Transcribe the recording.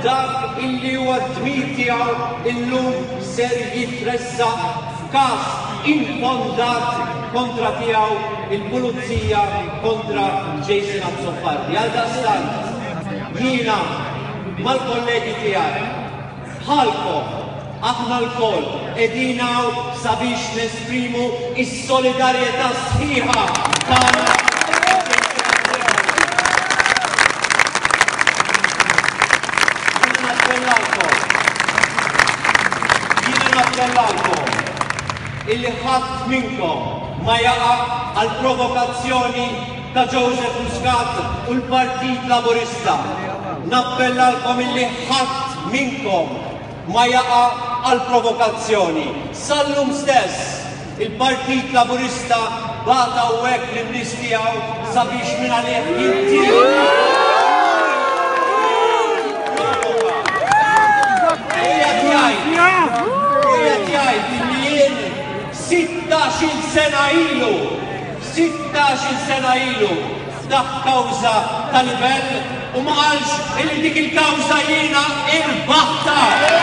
dak illi huwa d-dmir tiegħu illum ser jitressaq f'każ infondat kontra tiegħu il-pulizija kontra Jason Azzopardi. Għaldaqstant jiena mal-kollegi tiegħi Bħalkom, aħna lkoll qegħdin hawn sabiex nesprimu s-solidarjetà sħiħa tagħna ma' Jason Azzopardi. Jiena nappellalkom, jiena nappellalkom illi ħadd minnkom ma jaqa' għall-provokazzjoni ta' Joseph Muscat u l-Partit Laburista. Nappellalkom illi ħadd minnkom ma jaqa' għall-provokazzjoni. Sal-lum stess, il-Partit Laburista bagħat hawnhekk lin-nies tiegħu sabiex mingħalih jintieħu. Qiegħed jgħid, qiegħed jgħid illi jien sittax-il sena ilu Sittax-il sena ilu ftaħ kawża ta' libell u ma qalx illi dik il-kawża jiena irbaħtha!